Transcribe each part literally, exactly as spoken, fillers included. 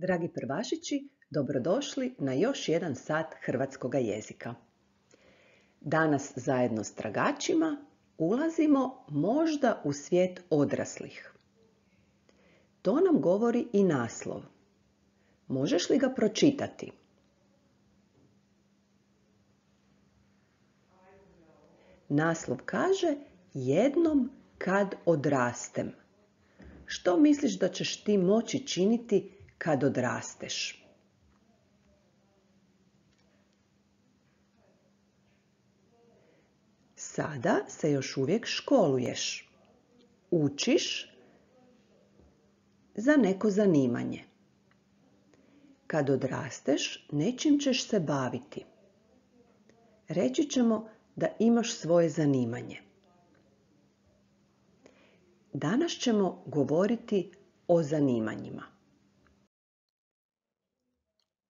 Dragi prvašići, dobrodošli na još jedan sat hrvatskoga jezika. Danas zajedno s tragačima ulazimo možda u svijet odraslih. To nam govori i naslov. Možeš li ga pročitati? Naslov kaže jednom kad odrastem. Što misliš da ćeš ti moći činiti kad odrasteš? Sada se još uvijek školuješ. Učiš za neko zanimanje. Kad odrasteš, nečim ćeš se baviti. Reći ćemo da imaš svoje zanimanje. Danas ćemo govoriti o zanimanjima.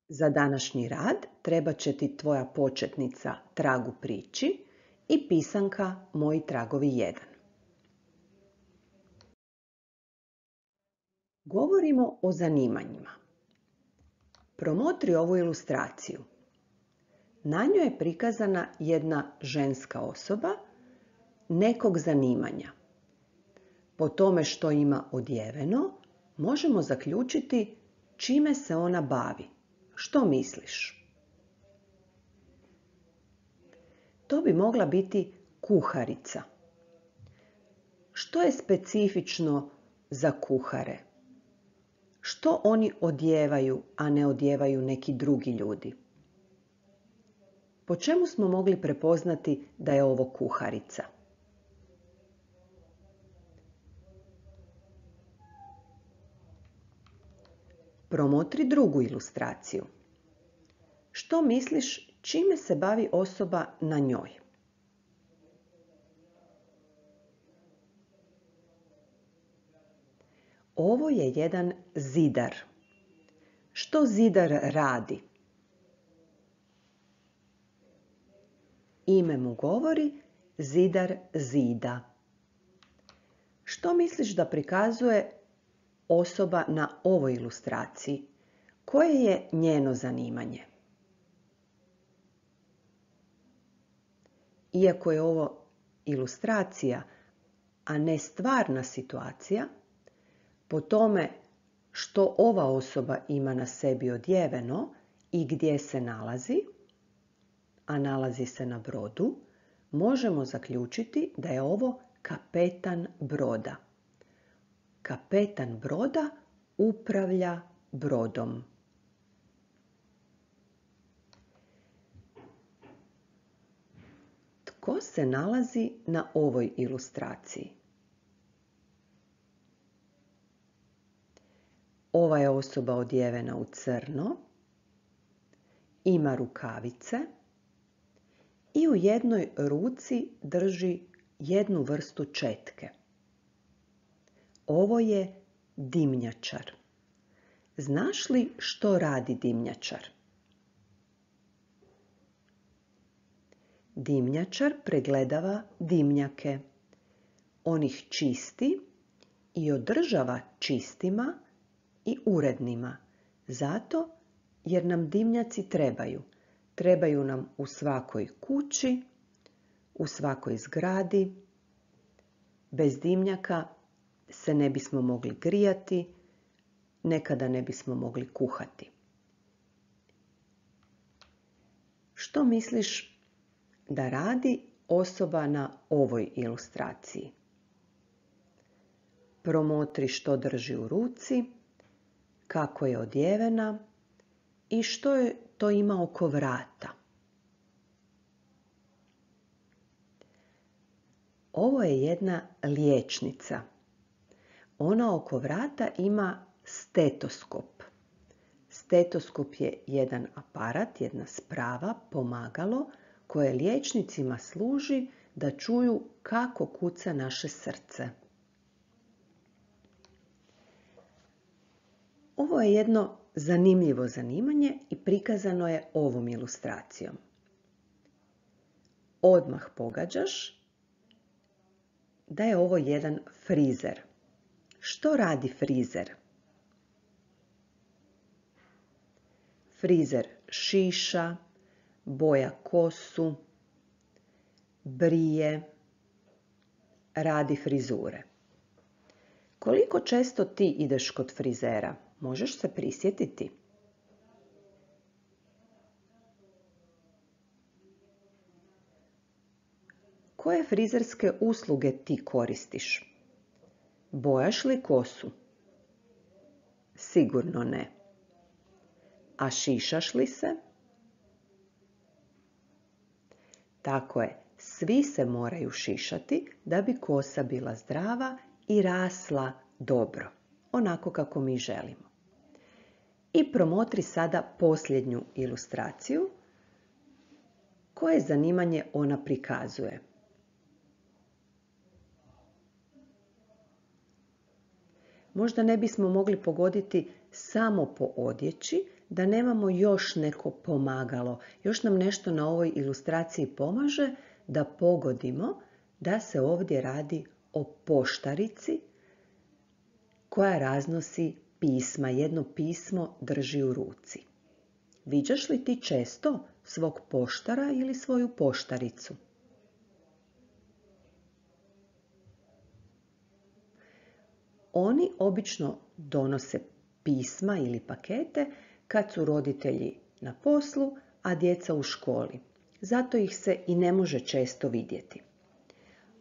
Za današnji rad trebat će ti tvoja početnica Tragu priči i pisanka Moji tragovi jedan. Govorimo o zanimanjima. Promotri ovu ilustraciju. Na njoj je prikazana jedna ženska osoba nekog zanimanja. Po tome što ima odjeveno, možemo zaključiti čime se ona bavi. Što misliš? To bi mogla biti kuharica. Što je specifično za kuhare? Što oni odjevaju, a ne odjevaju neki drugi ljudi? Po čemu smo mogli prepoznati da je ovo kuharica? Promotri drugu ilustraciju. Što misliš čime se bavi osoba na njoj? Ovo je jedan zidar. Što zidar radi? Ime mu govori zidar zida. Što misliš da prikazuje osoba na ovoj ilustraciji? Koje je njeno zanimanje? Iako je ovo ilustracija, a ne stvarna situacija, po tome što ova osoba ima na sebi odjeveno i gdje se nalazi, a nalazi se na brodu, možemo zaključiti da je ovo kapetan broda. Kapetan broda upravlja brodom. Tko se nalazi na ovoj ilustraciji? Ova je osoba odjevena u crno, ima rukavice i u jednoj ruci drži jednu vrstu četke. Ovo je dimnjačar. Znaš li što radi dimnjačar? Dimnjačar pregledava dimnjake. On ih čisti i održava čistima i urednima. Zato jer nam dimnjaci trebaju. Trebaju nam u svakoj kući, u svakoj zgradi. Bez dimnjaka se ne bismo mogli grijati, nekada ne bismo mogli kuhati. Što misliš da radi osoba na ovoj ilustraciji? Promotri što drži u ruci, kako je odjevena i što je to ima oko vrata. Ovo je jedna liječnica. Ona oko vrata ima stetoskop. Stetoskop je jedan aparat, jedna sprava, pomagalo koje liječnicima služi da čuju kako kuca naše srce. Ovo je jedno zanimljivo zanimanje i prikazano je ovom ilustracijom. Odmah pogađaš da je ovo jedan frizer. Što radi frizer? Frizer šiša, boja kosu, brije, radi frizure. Koliko često ti ideš kod frizera? Možeš se prisjetiti? Koje frizerske usluge ti koristiš? Bojaš li kosu? Sigurno ne. A šišaš li se? Tako je, svi se moraju šišati da bi kosa bila zdrava i rasla dobro, onako kako mi želimo. I promotri sada posljednju ilustraciju. Koje zanimanje ona prikazuje? Možda ne bismo mogli pogoditi samo po odjeći, da nemamo još neko pomagalo. Još nam nešto na ovoj ilustraciji pomaže da pogodimo da se ovdje radi o poštarici koja raznosi pisma. Jedno pismo drži u ruci. Viđaš li ti često svog poštara ili svoju poštaricu? Oni obično donose pisma ili pakete kad su roditelji na poslu, a djeca u školi. Zato ih se i ne može često vidjeti.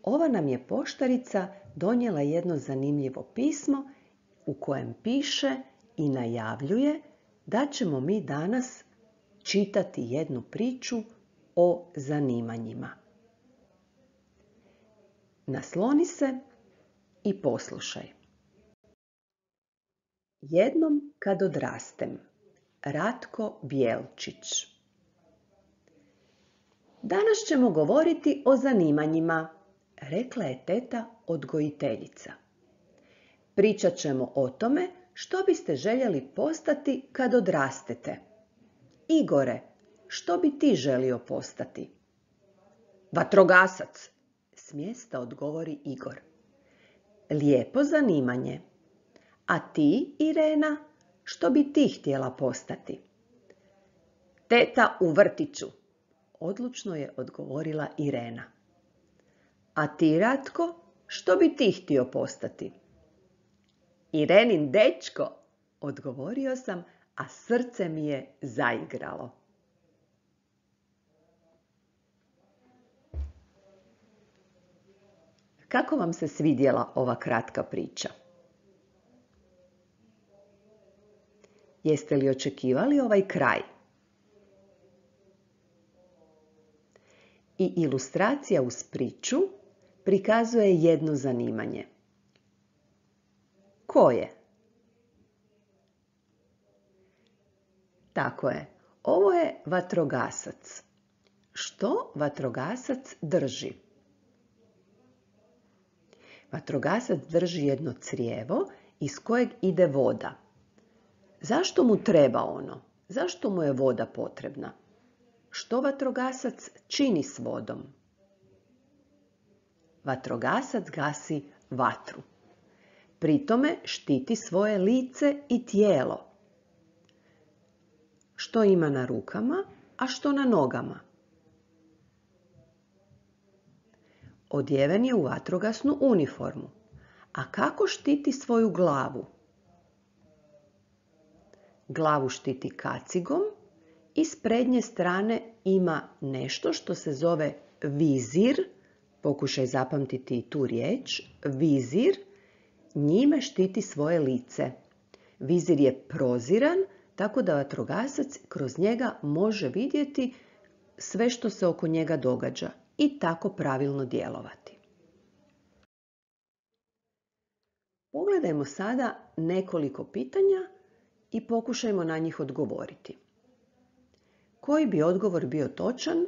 Ova nam je poštarica donijela jedno zanimljivo pismo u kojem piše i najavljuje da ćemo mi danas čitati jednu priču o zanimanjima. Nasloni se i poslušaj. Jednom kad odrastem. Ratko Bjelčić. Danas ćemo govoriti o zanimanjima, rekla je teta odgojiteljica. Pričat ćemo o tome što biste željeli postati kad odrastete. Igore, što bi ti želio postati? Vatrogasac, s mjesta odgovori Igor. Lijepo zanimanje. A ti, Irena, što bi ti htjela postati? Teta u vrtiću, odlučno je odgovorila Irena. A ti, Ratko, što bi ti htio postati? Irenin dečko, odgovorio sam, a srce mi je zaigralo. Kako vam se svidjela ova kratka priča? Jeste li očekivali ovaj kraj? I ilustracija uz priču prikazuje jedno zanimanje. Koje? Tako je, ovo je vatrogasac. Što vatrogasac drži? Vatrogasac drži jedno crijevo iz kojeg ide voda. Zašto mu treba ono? Zašto mu je voda potrebna? Što vatrogasac čini s vodom? Vatrogasac gasi vatru. Pri tome štiti svoje lice i tijelo. Što ima na rukama, a što na nogama? Odjeven je u vatrogasnu uniformu. A kako štiti svoju glavu? Glavu štiti kacigom i s prednje strane ima nešto što se zove vizir. Pokušaj zapamtiti i tu riječ. Vizir. Njime štiti svoje lice. Vizir je proziran, tako da vatrogasac kroz njega može vidjeti sve što se oko njega događa i tako pravilno djelovati. Pogledajmo sada nekoliko pitanja i pokušajmo na njih odgovoriti. Koji bi odgovor bio točan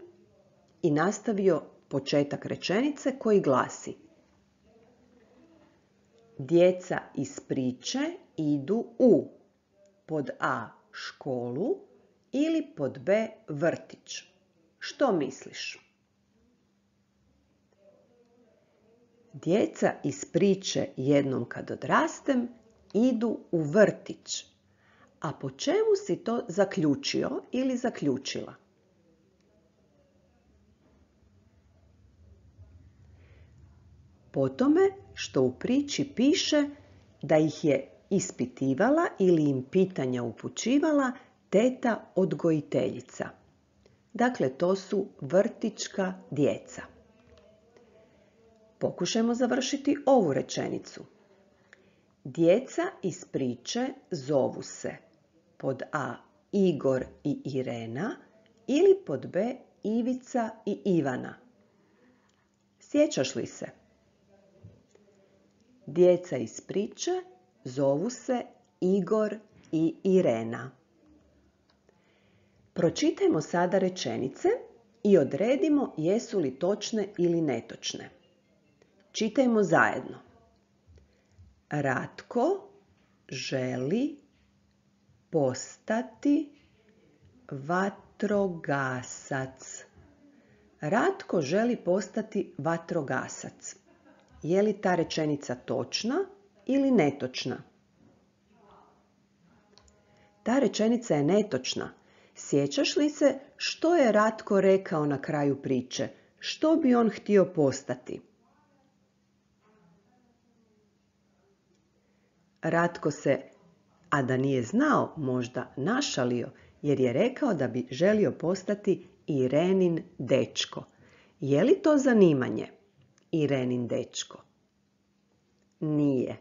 i nastavio početak rečenice koji glasi: djeca iz priče idu u pod A školu ili pod B vrtić. Što misliš? Djeca iz priče jednom kad odrastem idu u vrtić. a po čemu si to zaključio ili zaključila? Po tome što u priči piše da ih je ispitivala ili im pitanja upućivala teta odgojiteljica. Dakle, to su vrtićka djeca. Pokušajmo završiti ovu rečenicu. Djeca iz priče zovu se pod A. Igor i Irena ili pod B. Ivica i Ivana. Sjećaš li se? Djeca iz priče zovu se Igor i Irena. Pročitajmo sada rečenice i odredimo jesu li točne ili netočne. Čitajmo zajedno. Ratko želi postati vatrogasac. Ratko želi postati vatrogasac. Je li ta rečenica točna ili netočna? Ta rečenica je netočna. Sjećaš li se što je Ratko rekao na kraju priče? Što bi on htio postati? Ratko se, a da nije znao, možda našalio, jer je rekao da bi želio postati Irenin dečko. Je li to zanimanje? Irenin dečko. Nije.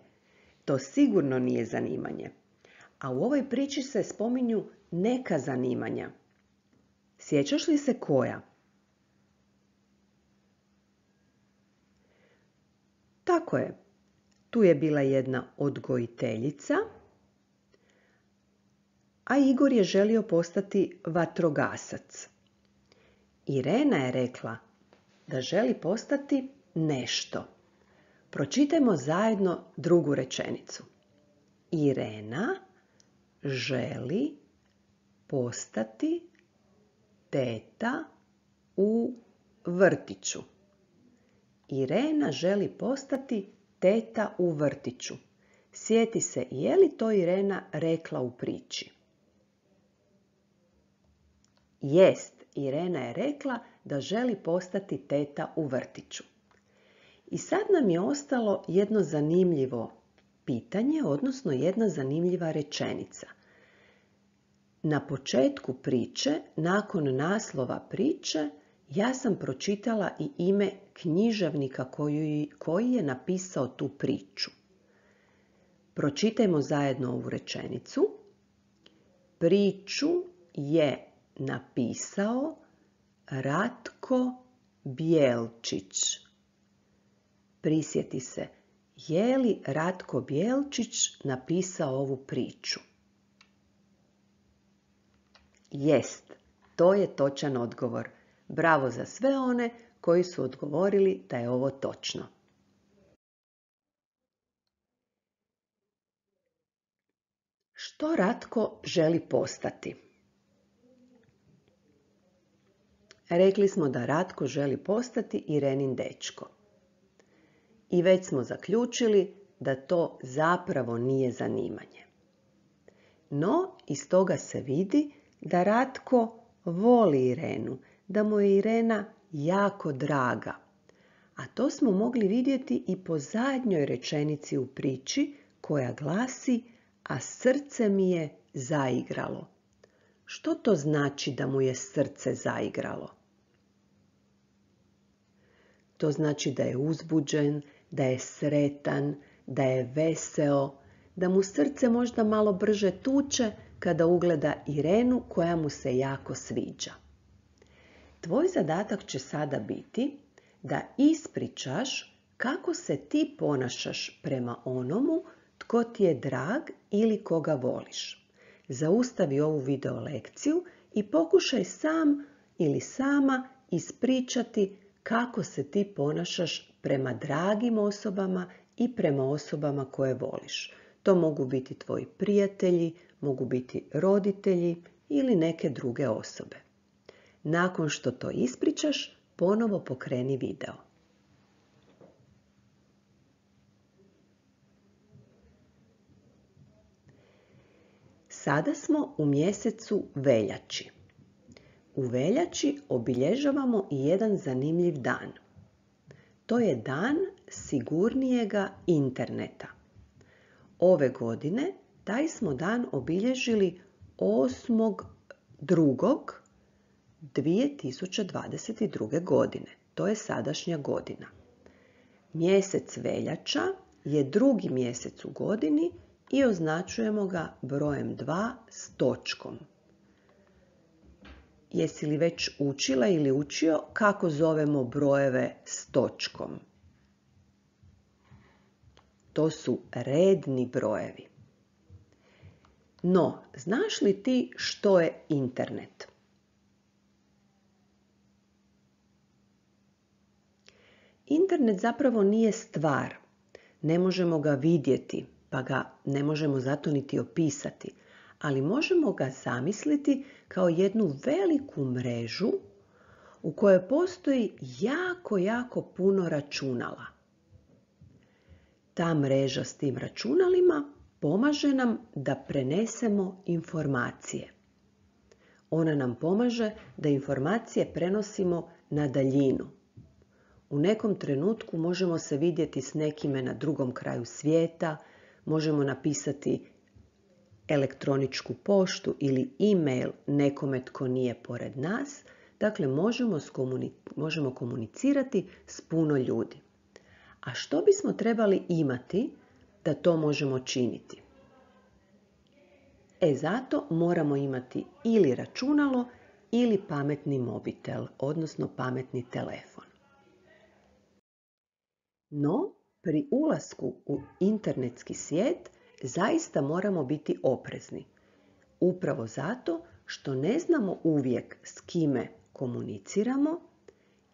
To sigurno nije zanimanje. A u ovoj priči se spominju neka zanimanja. Sjećaš li se koja? Tako je. Tu je bila jedna odgojiteljica, a Igor je želio postati vatrogasac. Irena je rekla da želi postati nešto. Pročitajmo zajedno drugu rečenicu. Irena želi postati teta u vrtiću. Irena želi postati teta u vrtiću. Sjeti se, je li to Irena rekla u priči? Jest, Irena je rekla da želi postati teta u vrtiću. I sad nam je ostalo jedno zanimljivo pitanje, odnosno jedna zanimljiva rečenica. Na početku priče, nakon naslova priče, ja sam pročitala i ime književnika koji, koji je napisao tu priču. Pročitajmo zajedno ovu rečenicu. Priču je napisao Ratko Bjelčić. Prisjeti se, je li Ratko Bjelčić napisao ovu priču? Jest, to je točan odgovor. Bravo za sve one koji su odgovorili da je ovo točno. Što Ratko želi postati? Rekli smo da Ratko želi postati Irenin dečko. I već smo zaključili da to zapravo nije zanimanje. No, iz toga se vidi da Ratko voli Irenu, da mu je Irena jako draga. A to smo mogli vidjeti i po zadnjoj rečenici u priči koja glasi: a srce mi je zaigralo. Što to znači da mu je srce zaigralo? To znači da je uzbuđen, da je sretan, da je veseo, da mu srce možda malo brže tuče kada ugleda Irenu koja mu se jako sviđa. Tvoj zadatak će sada biti da ispričaš kako se ti ponašaš prema onomu tko ti je drag ili koga voliš. Zaustavi ovu video lekciju i pokušaj sam ili sama ispričati kako se ti ponašaš prema dragim osobama i prema osobama koje voliš. To mogu biti tvoji prijatelji, mogu biti roditelji ili neke druge osobe. Nakon što to ispričaš, ponovo pokreni video. Sada smo u mjesecu veljači. U veljači obilježavamo i jedan zanimljiv dan. To je dan sigurnijega interneta. Ove godine taj smo dan obilježili osmog drugog dvije tisuće dvadeset druge. godine. To je sadašnja godina. Mjesec veljača je drugi mjesec u godini i označujemo ga brojem dva s točkom. Jesi li već učila ili učio kako zovemo brojeve s točkom? To su redni brojevi. No, znaš li ti što je internet? Internet zapravo nije stvar. Ne možemo ga vidjeti, pa ga ne možemo zato niti opisati, ali možemo ga zamisliti kao jednu veliku mrežu u kojoj postoji jako, jako puno računala. Ta mreža s tim računalima pomaže nam da prenesemo informacije. Ona nam pomaže da informacije prenosimo na daljinu. U nekom trenutku možemo se vidjeti s nekime na drugom kraju svijeta, možemo napisati elektroničku poštu ili e-mail nekome tko nije pored nas. Dakle, možemo, možemo komunicirati s puno ljudi. A što bismo trebali imati da to možemo činiti? E, zato moramo imati ili računalo ili pametni mobitel, odnosno pametni telefon. No, pri ulasku u internetski svijet zaista moramo biti oprezni. Upravo zato što ne znamo uvijek s kime komuniciramo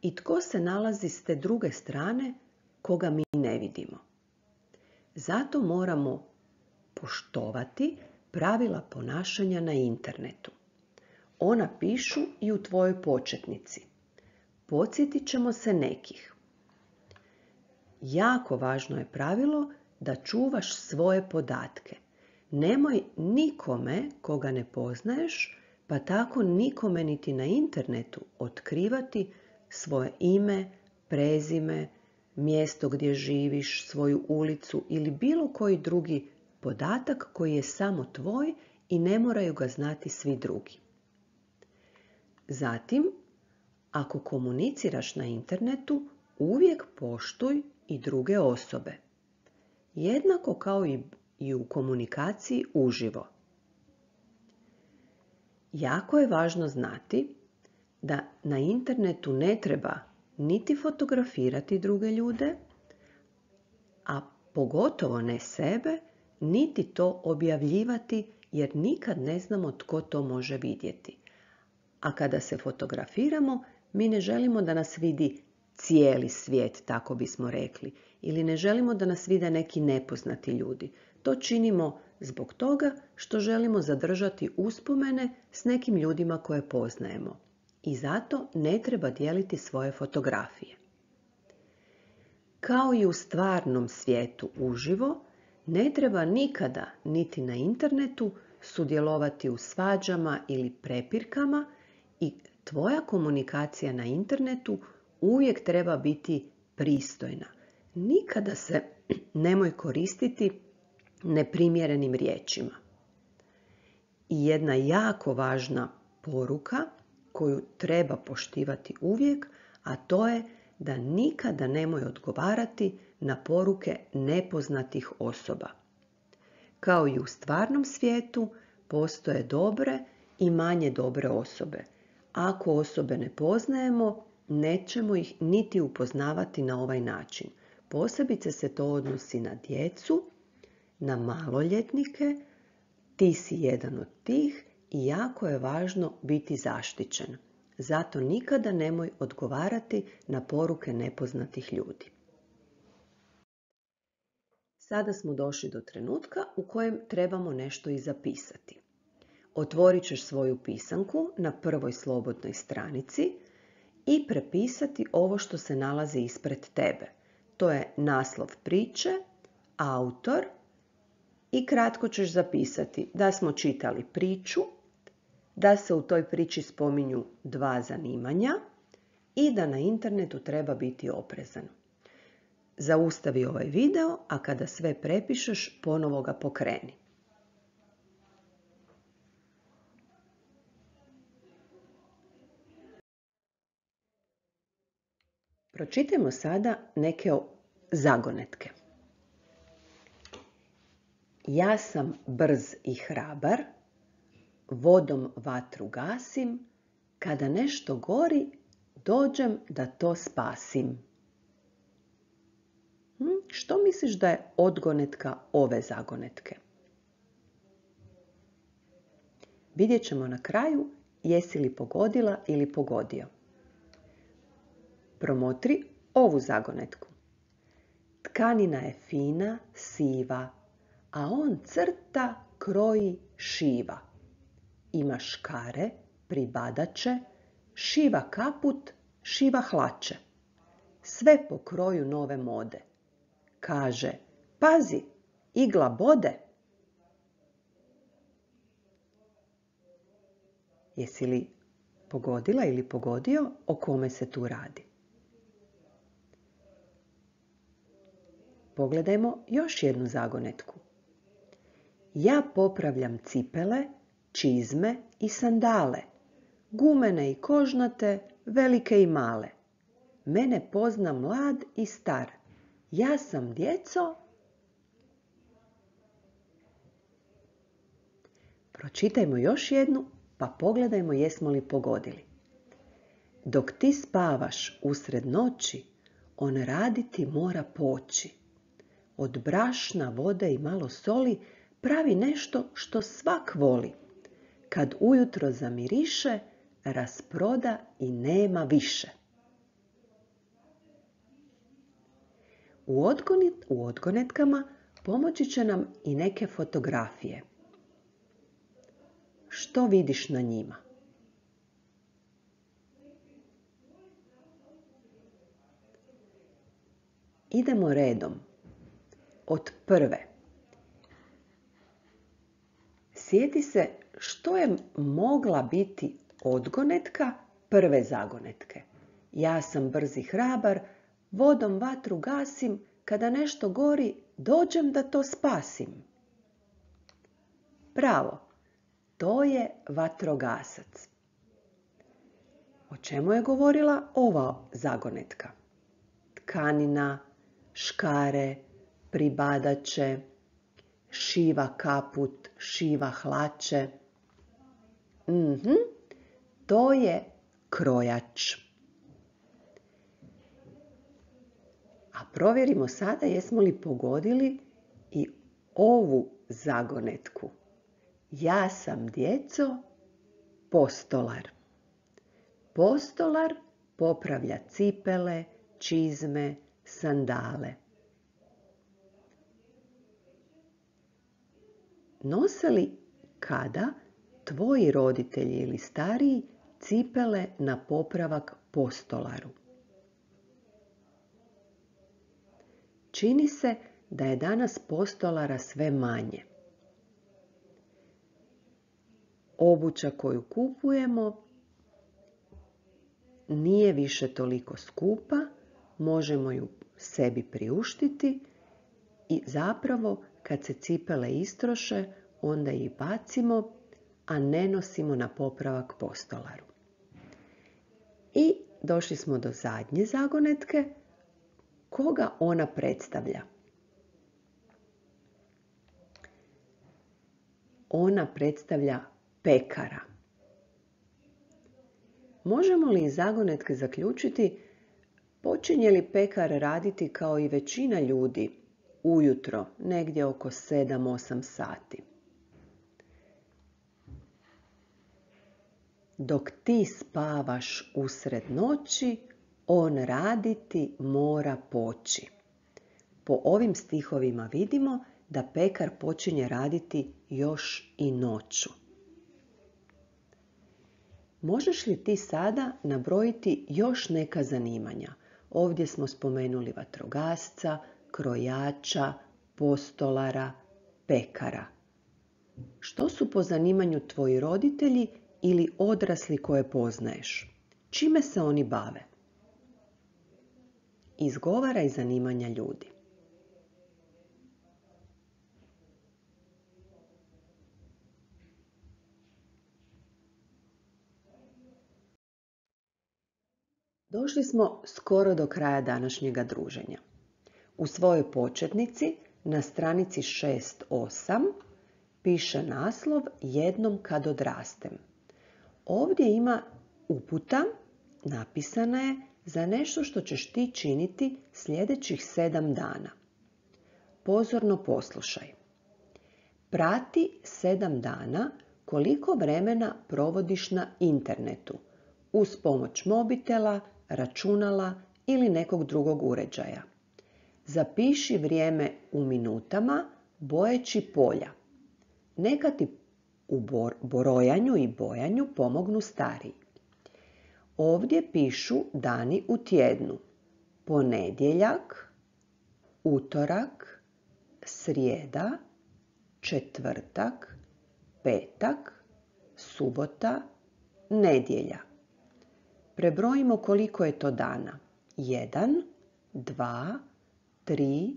i tko se nalazi s te druge strane koga mi ne vidimo. Zato moramo poštovati pravila ponašanja na internetu. Ona pišu i u tvojoj početnici. Podsjetit ćemo se nekih. Jako važno je pravilo da čuvaš svoje podatke. Nemoj nikome koga ne poznaješ, pa tako nikome niti na internetu otkrivati svoje ime, prezime, mjesto gdje živiš, svoju ulicu ili bilo koji drugi podatak koji je samo tvoj i ne moraju ga znati svi drugi. Zatim, ako komuniciraš na internetu, uvijek poštuj i druge osobe. Jednako kao i u komunikaciji uživo. Jako je važno znati da na internetu ne treba niti fotografirati druge ljude, a pogotovo ne sebe, niti to objavljivati jer nikad ne znamo tko to može vidjeti. A kada se fotografiramo, mi ne želimo da nas vidi cijeli svijet, tako bismo rekli, ili ne želimo da nas vide neki nepoznati ljudi. To činimo zbog toga što želimo zadržati uspomene s nekim ljudima koje poznajemo. I zato ne treba dijeliti svoje fotografije. Kao i u stvarnom svijetu uživo, ne treba nikada niti na internetu sudjelovati u svađama ili prepirkama i tvoja komunikacija na internetu uvijek treba biti pristojna. Nikada se nemoj koristiti neprimjerenim riječima. I jedna jako važna poruka koju treba poštivati uvijek, a to je da nikada nemoj odgovarati na poruke nepoznatih osoba. Kao i u stvarnom svijetu postoje dobre i manje dobre osobe. Ako osobe ne poznajemo, nećemo ih niti upoznavati na ovaj način. Posebice se to odnosi na djecu, na maloljetnike, ti si jedan od tih i jako je važno biti zaštićen. Zato nikada nemoj odgovarati na poruke nepoznatih ljudi. Sada smo došli do trenutka u kojem trebamo nešto i zapisati. Otvorit ćeš svoju pisanku na prvoj slobodnoj stranici i prepisati ovo što se nalazi ispred tebe. To je naslov priče, autor i kratko ćeš zapisati da smo čitali priču, da se u toj priči spominju dva zanimanja i da na internetu treba biti oprezan. Zaustavi ovaj video, a kada sve prepišeš, ponovo ga pokreni. Pročitajmo sada neke zagonetke. Ja sam brz i hrabar, vodom vatru gasim, kada nešto gori, dođem da to spasim. Hm, što misliš da je odgonetka ove zagonetke? Vidjet ćemo na kraju jesi li pogodila ili pogodio. Promotri ovu zagonetku. Tkanina je fina, siva, a on crta, kroji, šiva. Ima škare, pribadače, šiva kaput, šiva hlače. Sve po kroju nove mode. Kaže, pazi, igla bode. Jesi li pogodila ili pogodio o kome se tu radi? Pogledajmo još jednu zagonetku. Ja popravljam cipele, čizme i sandale, gumene i kožnate, velike i male. Mene pozna mlad i star. Ja sam djeco. Pročitajmo još jednu, pa pogledajmo jesmo li pogodili. Dok ti spavaš usred noći, on raditi mora poći. Od brašna, vode i malo soli pravi nešto što svak voli. Kad ujutro zamiriše, rasproda i nema više. U, odgonet, u odgonetkama pomoći će nam i neke fotografije. Što vidiš na njima? Idemo redom. Od prve. Sjeti se što je mogla biti odgonetka prve zagonetke. Ja sam brz i hrabar, vodom vatru gasim, kada nešto gori, dođem da to spasim. Bravo, to je vatrogasac. O čemu je govorila ova zagonetka? Tkanina, škare, pribadače, šiva kaput, šiva hlače. Mhm, to je krojač. A provjerimo sada jesmo li pogodili i ovu zagonetku. Ja sam djeco postolar. Postolar popravlja cipele, čizme, sandale. Nose li kada tvoji roditelji ili stariji cipele na popravak postolaru? Čini se da je danas postolara sve manje. Obuća koju kupujemo nije više toliko skupa, možemo ju sebi priuštiti i zapravo kad se cipele istroše, onda ih bacimo, a ne nosimo na popravak postolaru. I došli smo do zadnje zagonetke. Koga ona predstavlja? Ona predstavlja pekara. Možemo li iz zagonetke zaključiti počinje li pekar raditi kao i većina ljudi ujutro, negdje oko sedam osam sati? Dok ti spavaš usred noći, on raditi mora poći. Po ovim stihovima vidimo da pekar počinje raditi još i noću. Možeš li ti sada nabrojiti još neka zanimanja? Ovdje smo spomenuli vatrogasca, krojača, postolara, pekara. Što su po zanimanju tvoji roditelji ili odrasli koje poznaješ? Čime se oni bave? Izgovaraj zanimanja ljudi. Došli smo skoro do kraja današnjega druženja. U svojoj početnici na stranici šest osam piše naslov Jednom kad odrastem. Ovdje ima uputa, napisana je za nešto što ćeš ti činiti sljedećih sedam dana. Pozorno poslušaj. Prati sedam dana koliko vremena provodiš na internetu uz pomoć mobitela, računala ili nekog drugog uređaja. Zapiši vrijeme u minutama bojeći polja. Neka ti u brojanju i bojanju pomognu stariji. Ovdje pišu dani u tjednu. Ponedjeljak, utorak, srijeda, četvrtak, petak, subota, nedjelja. Prebrojimo koliko je to dana. jedan, dva, tri,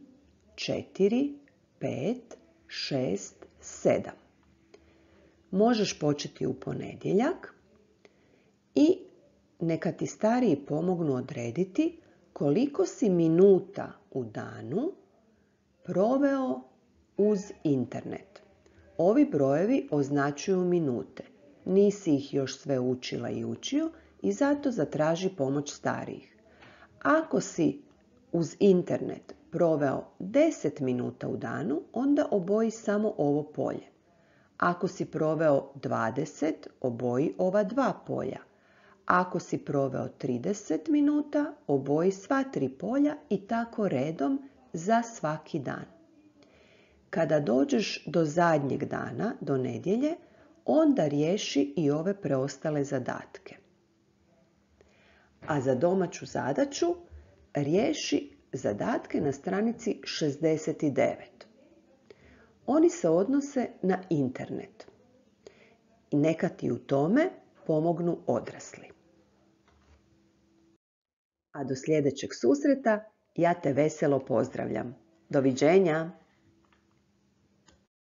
četiri, pet, šest, sedam. Možeš početi u ponedjeljak i neka ti stariji pomognu odrediti koliko si minuta u danu proveo uz internet. Ovi brojevi označuju minute. Nisi ih još sve učila i učio i zato zatraži pomoć starijih. Ako si uz internet proveo deset minuta u danu, onda oboji samo ovo polje. Ako si proveo dvadeset, oboji ova dva polja. Ako si proveo trideset minuta, oboji sva tri polja i tako redom za svaki dan. Kada dođeš do zadnjeg dana, do nedjelje, onda riješi i ove preostale zadatke. A za domaću zadaću riješi zadatke na stranici šezdeset devet. Oni se odnose na internet. I neka ti u tome pomognu odrasli. A do sljedećeg susreta ja te veselo pozdravljam. Doviđenja!